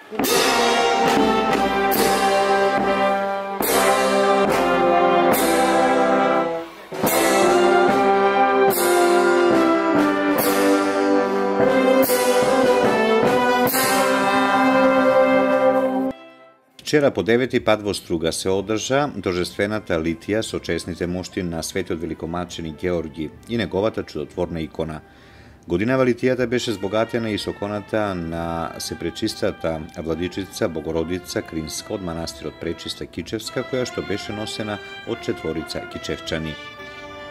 Вчера по 9 пат во Струга се одржа торжествената литија со честните мошти на светиот великомаченик Георги и неговата чудотворна икона. Годинава литијата беше збогатена и со иконата на Сепречистата владичица Богородица Кринска од манастирот Пречиста Кичевска, која што беше носена од четворица кичевчани.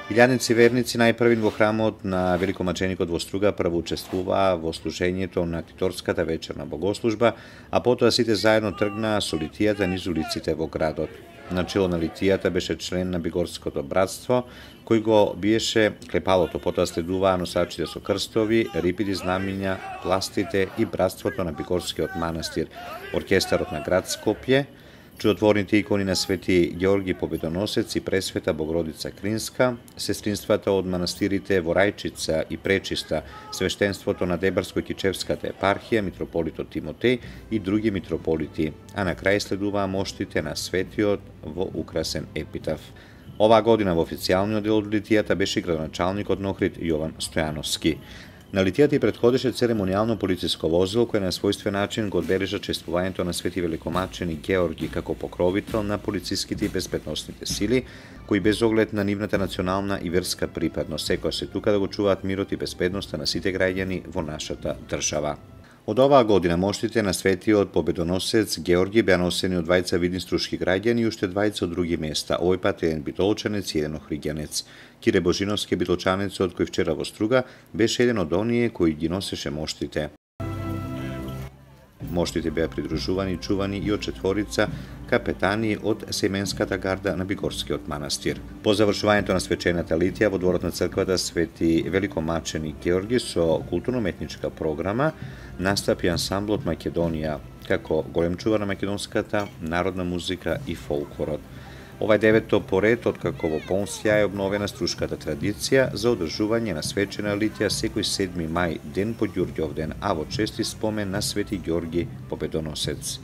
Илјадници верници најпрвин во храмот на великомаченикот во Струга прво учествуваа во служењето на Титорската вечерна богослужба, а потоа сите заедно тргнаа со литијата низ улиците во градот. Начело на литијата беше член на Бигорското братство, кој го биеше клепалото, потоа следуваа носачите со крстови, рипиди знамиња, пластите и братството на Бигорскиот манастир, оркестарот на град Скопје, чудотворните икони на Свети Георги Победоносец и Пресвета Богородица Кринска, сестринствата од манастирите во Рајчица и Пречиста, свештенството на Дебарско-Кичевската епархија, митрополитот Тимотеј и други митрополити, а на крај следуваа моштите на светиот во украсен епитаф. Оваа година во официјалниот дел од литијата беше градоначалникот на Охрид Јован Стојановски. На литијата и предходеше церемонијално полициско возило кој на својствен начин го одбележа чествувањето на Свети великомаченик Георги како покровител на полициските и безбедносните сили, кои без оглед на нивната национална и верска припадност секоја се тука да го чуваат мирот и безбедноста на сите граѓани во нашата држава. Од оваа година моштите на Светиот Победоносец Георги беа носени од двајца видни струшки граѓани и уште двајца од други места, овој пат еден битолчанец и еден охриѓанец. Кире Божиновски, битолчанецот кој вчера во Струга беше еден од оние кои ги носеше моштите. Моштите беа придружувани и чувани и од четворица капетани од семенската гарда на Бигорскиот манастир. По завршувањето на свечената литија во дворот на црквата Свети великомаченик Георги со културно-уметничка програма настапи ансамблот Македонија како голем чувар на македонската народна музика и фолклорот. Ова е девето поред откако во полн сјај е обновена струшката традиција за одржување на свечена литија секој 7 мај, ден по Ѓурѓовден, а во чести спомен на Свети Ѓорги Победоносец.